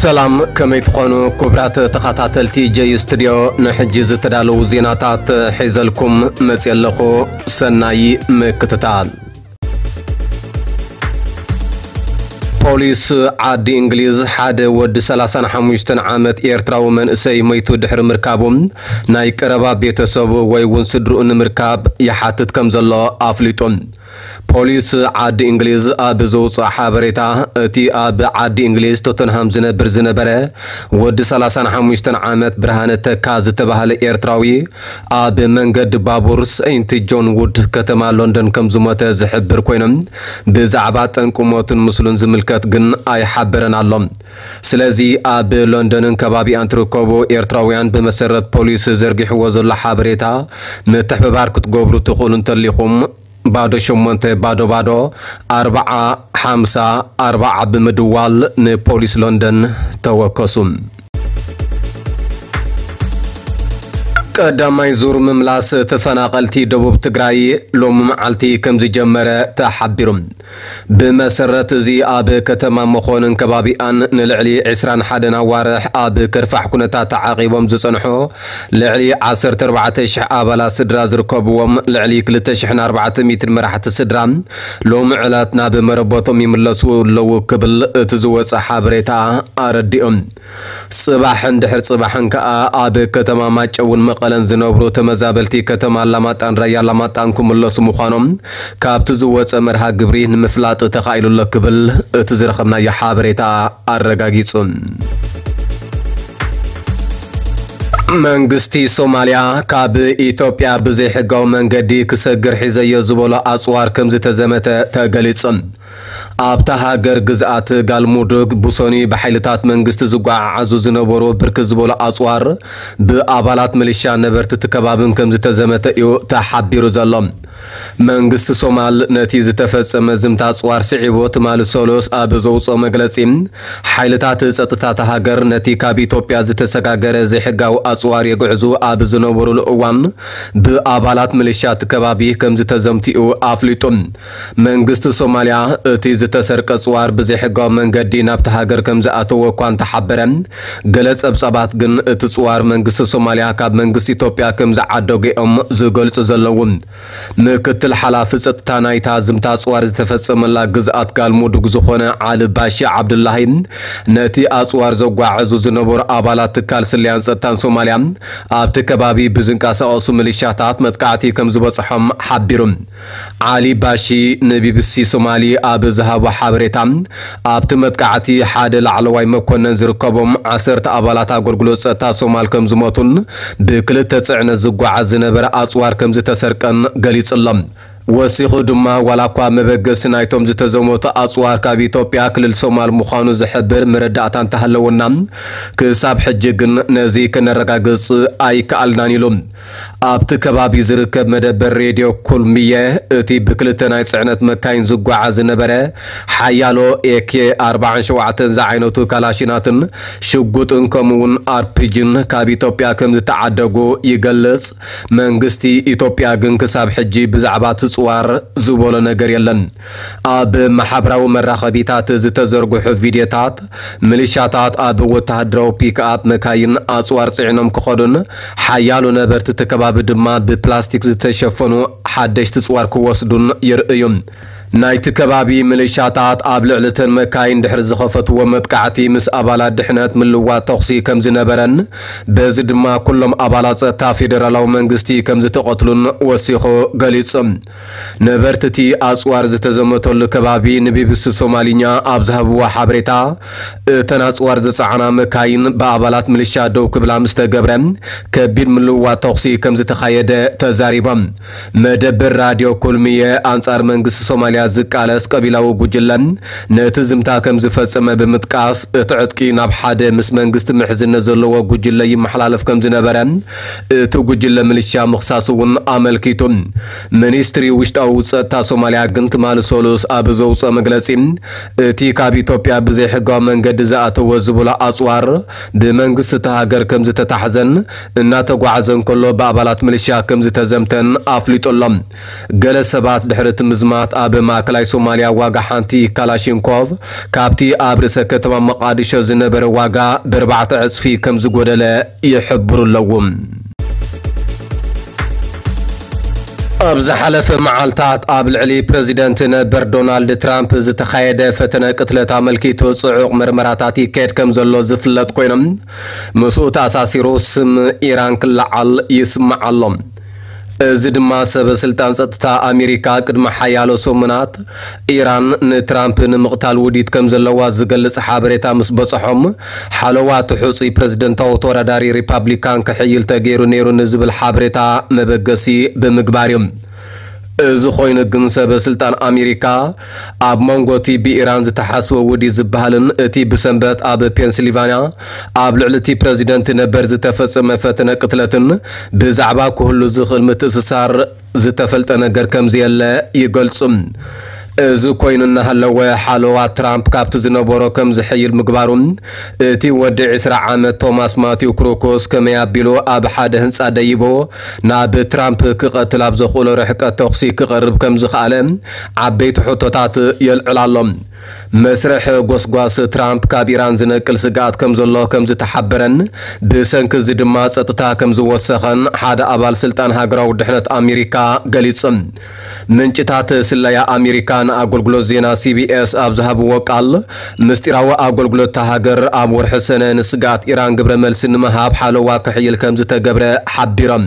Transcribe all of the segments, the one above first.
ሰላም፣ ከመይ ትኾኑ ክቡራት ተኸታተልቲ ጀይ ስቱድዮ? ንሕጂ ዝተዳለዉ ዜናታት ሒዘልኩም መፅየ ኣለኹ። ሰናይ ምክትታል። ፖሊስ ዓዲ እንግሊዝ ሓደ ወዲ ሰላሳን ሓሙሽተን ዓመት ኤርትራዊ መንእሰይ መይቱ ድሕሪ ምርካቡ ናይ ቀረባ ቤተሰቡ ወይ እውን ስድርኡ ንምርካብ ይሓትት ከም ዘሎ ኣፍሊጡ። ፖሊስ ዓዲ እንግሊዝ ኣብ ዘውፅኦ ሓበሬታ፣ እቲ ኣብ ዓዲ እንግሊዝ ቶተንሃም ዝነብር ዝነበረ ወዲ ሰላሳን ሓሙሽተን ዓመት ብርሃነ ተካ ዝተባህለ ኤርትራዊ ኣብ መንገዲ ባቡር ሰይንት ጆን ውድ ከተማ ሎንደን ከም ዝሞተ ዝሕብር ኮይኖም፣ ብዛዕባ ጠንቂ ሞቱን ምስሉን ዝምልከት ግን ኣይሓበረን ኣሎ። ስለዚ ኣብ ሎንደንን ከባቢኣን ትርከቡ ኤርትራውያን ብመሰረት ፖሊስ ዘርጊሕዎ ዘሎ ሓበሬታ ምትሕብባር ክትገብሩ ትኽእሉ እንተሊኹም፣ ባዶ ሸሞንተ ባዶ ባዶ ኣርባዓ ሓምሳ ኣርባዓ ብምድዋል ንፖሊስ ሎንደን ተወከሱ። ቀዳማይ ዙር ምምላስ ተፈናቐልቲ ደቡብ ትግራይ ሎሚ መዓልቲ ከም ዝጀመረ ተሓቢሩ። ብመሰረት እዚ ኣብ ከተማ መኾንን ከባቢኣን ንልዕሊ ዕስራን ሓደን ኣዋርሕ ኣብ ከርፋሕ ኩነታት ተዓቒቦም ዝጸንሑ ልዕሊ ዓሰርተ ኣርባዕተ ሽሕ ኣባላት ስድራ ዝርከብዎም ልዕሊ ክልተ ሽሕን ኣርባዕተ ሚእትን መራሕቲ ስድራ ሎሚ ዕለት ናብ መረበቶም ይምለሱ ኣለዉ ክብል እቲ ዝወጸ ሓበሬታ ኣረዲኡ። ጽባሕን ድሕሪ ጽባሕን ከኣ ኣብ ከተማ ማጨውን መቐለን ዝነብሩ ተመዛበልቲ ከተማ ኣላማጣን ራያ ኣላማጣን ክምለሱ ምዃኖም ካብቲ ዝወጸ መርሃ ግብሪ ንምፍላጥ ተኻኢሉ ኣሎ ክብል እቲ ዝረኸብናዮ ሓበሬታ ኣረጋጊጹ። መንግስቲ ሶማልያ ካብ ኢትዮጵያ ብዘይሕጋዊ መንገዲ ክሰግር ሒዘዮ ዝበሎ ኣጽዋር ከም ዝተዘመተ ተገሊጹ። ኣብታ ሃገር ግዝኣት ጋልሙዱግ ብሶኒ ብሓይልታት መንግስቲ ዝጓዓዓዙ ዝነበሩ ብርክት ዝበሉ ኣጽዋር ብኣባላት ሚሊሻ ነበርቲ እቲ ከባብን ከም ዝተዘመተ እዩ ተሓቢሩ ዘሎ። መንግስቲ ሶማል ነቲ ዝተፈጸመ ዝምታ ኣጽዋር ስዒቡ ትማሊ ሰሉስ ኣብ ዘውጽኦ መግለጺ፣ ሓይልታት ጸጥታ እታ ሃገር ነቲ ካብ ኢትዮጵያ ዝተሰጋገረ ዘይሕጋዊ ኣጽዋር የግዕዙ ኣብ ዝነበሩሉ እዋን ብኣባላት ሚሊሻ እቲ ከባቢ ከም ዝተዘምትኡ ኣፍሊጡ። መንግስቲ ሶማልያ እቲ ዝተሰርቀ ኣጽዋር ብዘይሕጋዊ መንገዲ ናብቲ ሃገር ከም ዝኣተወ እኳ እንተሓበረ፣ ገለ ጸብጻባት ግን እቲ ጽዋር መንግስቲ ሶማልያ ካብ መንግስቲ ኢትዮጵያ ከም ዝዓደጎ እዮም ዝገልጹ ዘለዉ። ምክትል ሓላፊ ጸጥታ ናይታ ዝምታ ኣጽዋር ዝተፈጸመላ ግዝኣት ጋልሙዱግ ዝኾነ ዓሊ ባሺ ዓብዱላሂ፣ ነቲ ኣጽዋር ዘጓዓዕዙ ዝነበሩ ኣባላት ትካል ስለያን ጸጥታን ሶማልያ ኣብቲ ከባቢ ብዝንቀሳቐሱ ሚሊሻታት መጥቃዕቲ ከም ዝበጽሖም ሓቢሩ። ዓሊ ባሺ ንቢቢሲ ሶማሊ ኣብ ዝሃቦ ሓበሬታ፣ ኣብቲ መጥቃዕቲ ሓደ ላዕለዋይ መኮነን ዝርከቦም ዓሰርተ ኣባላት ኣገልግሎት ጸጥታ ሶማል ከም ዝሞቱን ብክልተ ጽዕነት ዝጓዓዝ ዝነበረ ኣጽዋር ከም ዝተሰርቀን ገሊጹ ኣሎ። ወሲኹ ድማ፣ ዋላ እኳ መበገሲ ናይቶም ዝተዘመቱ ኣጽዋር ካብ ኢትዮጵያ ክልል ሶማል ምዃኑ ዝሕብር መረዳእታ እንተሃለወና፣ ክሳብ ሕጂ ግን ነዚ ከነረጋግጽ ኣይከኣልናን ኢሉ። ኣብቲ ከባቢ ዝርከብ መደበር ሬድዮ ኩልሚየ፣ እቲ ብክልተ ናይ ጽዕነት መካይን ዝጓዓዝ ዝነበረ ሓያሎ ኤኬ ኣርባዓን ሸውዓተን ዝዓይነቱ ካላሽናትን ሽጉጥን ከምኡውን ኣርፒጂን ካብ ኢትዮጵያ ከም ዝተዓደጉ ይገልጽ። መንግስቲ ኢትዮጵያ ግን ክሳብ ሕጂ ብዛዕባ እቲ ጽዋር ዝበሎ ነገር የለን። ኣብ ማሕበራዊ መራኸቢታት ዝተዘርግሑ ቪድዮታት፣ ሚሊሻታት ኣብ ወተሃደራዊ ፒክኣፕ መካይን ኣጽዋር ጽዒኖም ክኸዱን ሓያሎ ነበርቲ እቲ ከባቢ ድማ ብፕላስቲክ ዝተሸፈኑ ሓደሽቲ ጽዋር ክወስዱን ይርእዩ። ናይቲ ከባቢ ሚሊሻታት ኣብ ልዕሊ እተን መካይን ድሕሪ ዝኸፈትዎ መጥቃዕቲ፣ ምስ ኣባላት ድሕነት ምልዋጥ ተኹሲ ከም ዝነበረን፣ በዚ ድማ ኩሎም ኣባላት ጸጥታ ፌደራላዊ መንግስቲ ከም ዝተቐትሉን ወሲኹ ገሊጹ። ነበርቲ እቲ ኣጽዋር ዝተዘመተሉ ከባቢ ንቢቢሲ ሶማሊኛ ኣብ ዝሃብዎ ሓበሬታ፣ እተን ኣጽዋር ዝጸዓና መካይን ብኣባላት ሚሊሻ ደው ክብላ ምስ ተገብረ፣ ከቢድ ምልውዋጥ ተኹሲ ከም ዝተኻየደ ተዛሪቦም። መደበር ራድዮ ኩልሚየ፣ ኣንጻር መንግስቲ ሶማልያ ዝቃለስ ቀቢላዊ ጉጅለ ነቲ ዝምታ ከም ዝፈጸመ ብምጥቃስ፣ እቲ ዕጥቂ ናብ ሓደ ምስ መንግስቲ ምሕዝነት ዘለዎ ጉጅለ ይመሓላለፍ ከም ዝነበረ እቲ ጉጅለ ሚሊሻ ምኽሳሱ እውን ኣመልኪቱ። ሚኒስትሪ ውሽጣዊ ጸጥታ ሶማልያ ግን ትማሊ ሰሉስ ኣብ ዘውጽኦ መግለጺ፣ እቲ ካብ ኢትዮጵያ ብዘይሕጋዊ መንገዲ ዝኣተወ ዝብሎ ኣጽዋር ብመንግስቲ እታ ሃገር ከም ዝተታሕዘን እናተጓዓዘ እንከሎ ብኣባላት ሚሊሻ ከም ዝተዘምተን ኣፍሊጡ ኣሎ። ገለ ሰባት ድሕሪ እቲ ምዝማት ኣብ ማእከላይ ሶማልያ ዋጋ ሓንቲ ካላሽንኮቭ ካብቲ ኣብ ርእሰ ከተማ መቓዲሾ ዝነበረ ዋጋ ብኣርባዕተ ዕጽፊ ከም ዝጎደለ ይሕብሩ ኣለዉ። ኣብ ዝሓለፈ መዓልታት ኣብ ልዕሊ ፕረዚደንት ነበር ዶናልድ ትራምፕ ዝተኻየደ ፈተነ ቅትለት ኣመልኪቱ ጽዑቕ መርመራታት ይካየድ ከም ዘሎ ዝፍለጥ ኮይኖም፣ ምስኡ ተኣሳሲሩ ስም ኢራን ክለዓል ይስማዕ ኣሎ። እዚ ድማ ሰበ ስልጣን ጸጥታ ኣሜሪካ ቅድሚ ሓያሎ ሰሙናት ኢራን ንትራምፕ ንምቕታል ውዲት ከም ዘለዋ ዝገልጽ ሓበሬታ ምስ በጽሖም፣ ሓለዋ እቲ ሕጹይ ፕረዚደንታዊ ተወዳዳሪ ሪፓብሊካን ክሕይል ተገይሩ ነይሩ ንዝብል ሓበሬታ መበገሲ ብምግባር እዮም። እዚ ኮይኑ ግን ሰበ ስልጣን ኣሜሪካ ኣብ መንጎ እቲ ብኢራን ዝተሓስበ ውዲት ዝበሃልን እቲ ብሰንበት ኣብ ፔንስልቫንያ ኣብ ልዕሊ እቲ ፕረዚደንት ነበር ዝተፈጸመ ፈተነ ቅትለትን ብዛዕባ ክህሉ ዝኽእል ምትእስሳር ዝተፈልጠ ነገር ከም ዘየለ ይገልጹ። እዚ ኮይኑ እናሃለወ ሓለዋ ትራምፕ ካብቲ ዝነበሮ ከም ዝሕይል ምግባሩ እቲ ወዲ ዕስራ ዓመት ቶማስ ማቲው ክሩኮስ ከመይ ኣቢሉ ኣብ ሓደ ህንጻ ደይቦ ናብ ትራምፕ ክቐትል ኣብ ዘኽእሎ ርሕቀት ተኹሲ ክቐርብ ከም ዝኸኣለ ዓበይቲ ሕቶታት የልዕል ኣሎ። መስርሕ ጎስጓስ ትራምፕ ካብ ኢራን ዝነቅል ስግኣት ከም ዘሎ ከም ዝተሓበረን ብሰንኪ እዚ ድማ ጸጥታ ከም ዝወሰኸን ሓደ ኣባል ስልጣን ሃገራዊ ድሕነት ኣሜሪካ ገሊጹ። ምንጭታት ስለያ ኣሜሪካ ንኣገልግሎት ዜና ሲቢኤስ ኣብ ዝሃብዎ ቃል፣ ምስጢራዊ ኣገልግሎት እታ ሃገር ኣብ ወርሒ ሰነ ንስግኣት ኢራን ግብረ መልሲ ንምሃብ ሓለዋ ክሕይል ከም ዝተገብረ ሓቢሮም።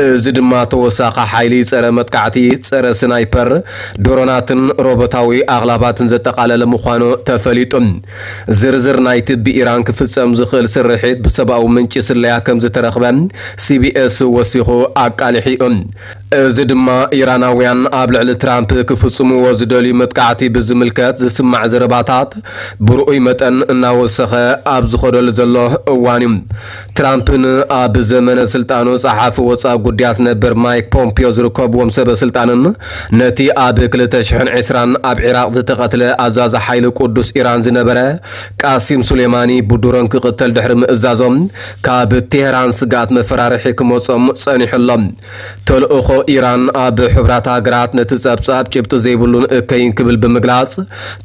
እዚ ድማ ተወሳኺ ሓይሊ ጸረ መጥቃዕቲ፣ ጸረ ስናይፐር፣ ድሮናትን ሮቦታዊ ኣቕላባትን ዘጠቓለለ ምዃኑ ተፈሊጡ። ዝርዝር ናይቲ ብኢራን ክፍጸም ዝኽእል ስርሒት ብሰብኣዊ ምንጪ ስለያ ከም ዝተረኽበ ሲቢኤስ ወሲኹ ኣቃሊሑ። እዚ ድማ ኢራናውያን ኣብ ልዕሊ ትራምፕ ክፍጽምዎ ዝደልዩ መጥቃዕቲ ብዝምልከት ዝስማዕ ዘረባታት ብርኡይ መጠን እናወሰኸ ኣብ ዝኸደሉ ዘሎ እዋን እዩ። ትራምፕን ኣብ ዘመነ ስልጣኑ ጸሓፊ ወጻኢ ጉዳያት ነበር ማይክ ፖምፒዮ ዝርከብዎም ሰበ ስልጣንን ነቲ ኣብ ክልተ ሽሕን ዕስራን ኣብ ዒራቕ ዝተቐትለ ኣዛዚ ሓይሊ ቅዱስ ኢራን ዝነበረ ቃሲም ሱሌማኒ ብድሮን ክቕተል ድሕሪ ምእዛዞም ካብ ቴህራን ስግኣት መፈራርሒ ክመጾም ጸኒሑ ኣሎ። ተልእኾ ኢራን ኣብ ሕቡራት ሃገራት ነቲ ጸብጻብ ጭብጢ ዘይብሉን እከይን ክብል ብምግላጽ፣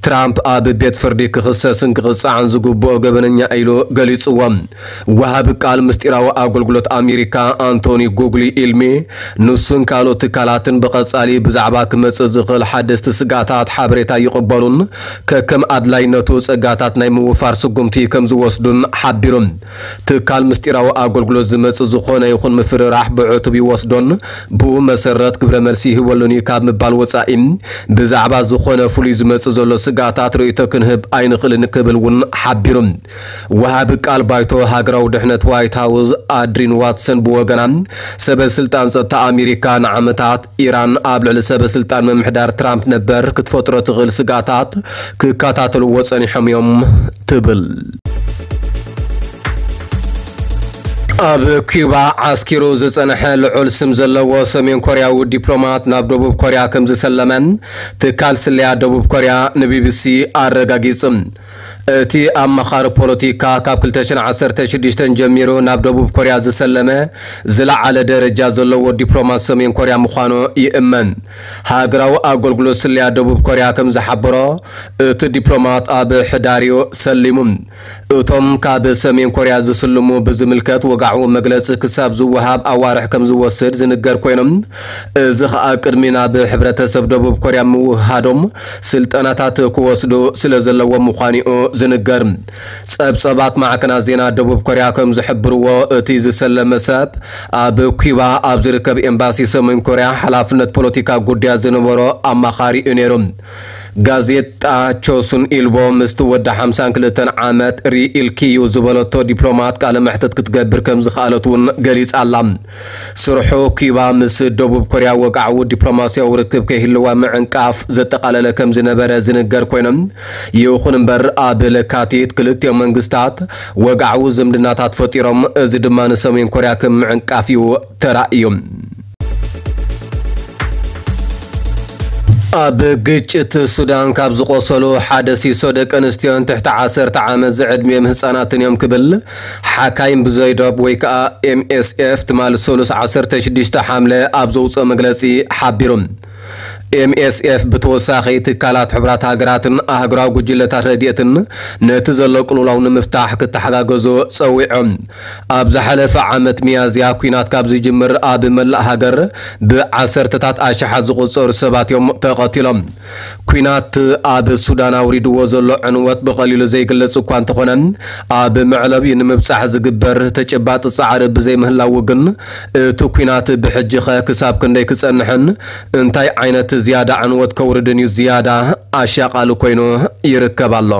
ትራምፕ ኣብ ቤት ፍርዲ ክኽሰስን ክቕጻዕን ዝግብኦ ገበነኛ ኢሉ ገሊጽዎ። ወሃቢ ቃል ምስጢራዊ ኣገልግሎት ኣሜሪካ ኣንቶኒ ጉግሊ ኢልሚ፣ ንሱን ካልኦት ትካላትን ብቐጻሊ ብዛዕባ ክመጽእ ዝኽእል ሓደስቲ ስግኣታት ሓበሬታ ይቕበሉን ከከም ኣድላይነቱ ጸጋታት ናይ ምውፋር ስጉምቲ ከም ዝወስዱን ሓቢሩ። ትካል ምስጢራዊ ኣገልግሎት ዝመጽእ ዝኾነ ይኹን ምፍርራሕ ብዕቱብ ይወስዶን ብኡ መሰረት ግብረ መልሲ ይህበሉን እዩ ካብ ምባል ወጻኢ፣ ብዛዕባ ዝኾነ ፍሉይ ዝመጽእ ዘሎ ስግኣታት ርእይቶ ክንህብ ኣይንኽእልን ክብል እውን ሓቢሩ። ወሃቢ ቃል ባይቶ ሃገራዊ ድሕነት ዋይት ሃውስ ኣድሪን ዋትሰን ብወገና፣ ሰበ ስልጣን ጸጥታ ኣሜሪካ ንዓመታት ኢራን ኣብ ልዕሊ ሰበ ስልጣን ምምሕዳር ትራምፕ ነበር ክትፈጥሮ ትኽእል ስግኣታት ክከታተልዎ ጸኒሖም እዮም ትብል። ኣብ ኪዩባ ዓስኪሩ ዝጸንሐ ልዑል ስም ዘለዎ ሰሜን ኮርያዊ ዲፕሎማት ናብ ደቡብ ኮርያ ከም ዝሰለመ ትካል ስለያ ደቡብ ኮርያ ንቢቢሲ ኣረጋጊጹ። እቲ ኣማኻሪ ፖለቲካ ካብ ክልተ ሽሕን ዓሰርተ ሽዱሽተን ጀሚሩ ናብ ደቡብ ኮርያ ዝሰለመ ዝለዓለ ደረጃ ዘለዎ ዲፕሎማት ሰሜን ኮርያ ምዃኑ ይእመን። ሃገራዊ ኣገልግሎት ስለያ ደቡብ ኮርያ ከም ዝሓበሮ፣ እቲ ዲፕሎማት ኣብ ሕዳር እዩ ሰሊሙ። እቶም ካብ ሰሜን ኮርያ ዝስልሙ ብዝምልከት ወግዓዊ መግለጺ ክሳብ ዝወሃብ ኣዋርሕ ከም ዝወስድ ዝንገር ኮይኖም፣ እዚ ኸኣ ቅድሚ ናብ ሕብረተሰብ ደቡብ ኮርያ ምውህሃዶም ስልጠናታት ክወስዱ ስለ ዘለዎም ምዃኑ እዩ ዝንገር። ጸብጸባት ማዕከናት ዜና ደቡብ ኮርያ ከም ዝሕብርዎ፣ እቲ ዝሰለመ ሰብ ኣብ ኩባ ኣብ ዝርከብ ኤምባሲ ሰሜን ኮርያ ሓላፍነት ፖለቲካ ጉዳያት ዝነበሮ ኣማኻሪ እዩ ነይሩ። ጋዜጣ ቾሱን ኢልቦ ምስቲ ወዲ ሓምሳን ክልተን ዓመት ሪ ኢልኪዩ ዝበለቶ ዲፕሎማት ቃለ መሕትት ክትገብር ከም ዝኸኣለት እውን ገሊጻ ኣላ። ስርሑ ኪባ ምስ ደቡብ ኮርያ ወግዓዊ ዲፕሎማስያዊ ርክብ ከይህልዋ ምዕንቃፍ ዘጠቓለለ ከም ዝነበረ ዝንገር ኮይኖም፣ ይኹን እምበር ኣብ ለካቲት ክልቲኦም መንግስታት ወግዓዊ ዝምድናታት ፈጢሮም፣ እዚ ድማ ንሰሜን ኮርያ ከም ምዕንቃፍ እዩ ተራእዩ። ኣብ ግጭት ሱዳን ካብ ዝቆሰሉ ሓደ ሲሶ ደቂ ኣንስትዮን ትሕቲ ዓሰርተ ዓመት ዝዕድሚኦም ህጻናትን እዮም ክብል ሓካይም ብዘይዶብ ወይ ከዓ ኤምኤስኤፍ ትማሊ ሰሉስ ዓሰርተ ሽዱሽተ ሓምለ ኣብ ዘውፅኦ መግለፂ ሓቢሩ። ኤምኤስኤፍ ብተወሳኺ ትካላት ሕቡራት ሃገራትን ኣህጉራዊ ጉጅለታት ረድኤትን ነቲ ዘሎ ቅልውላው ንምፍታሕ ክተሓጋገዙ ጸዊዖም። ኣብ ዝሓለፈ ዓመት ሚያዝያ ኲናት ካብ ዝጅምር ኣብ መላእ ሃገር ብዓሰርተታት ኣሽሓት ዝቑጸሩ ሰባት እዮም ተቐቲሎም። ኲናት ኣብ ሱዳን ኣውሪድዎ ዘሎ ዕንወት ብቐሊሉ ዘይግለጽ እኳ እንተኾነ፣ ኣብ መዕለቢኡ ንምብጻሕ ዝግበር ተጨባጢ ጻዕሪ ብዘይምህላዉ ግን፣ እቲ ኲናት ብሕጂኸ ክሳብ ክንደይ ክጸንሕን እንታይ ዓይነት ዝያዳ ዕንወት ከውርድን እዩ ዝያዳ ኣሻቓሊ ኮይኑ ይርከብ ኣሎ።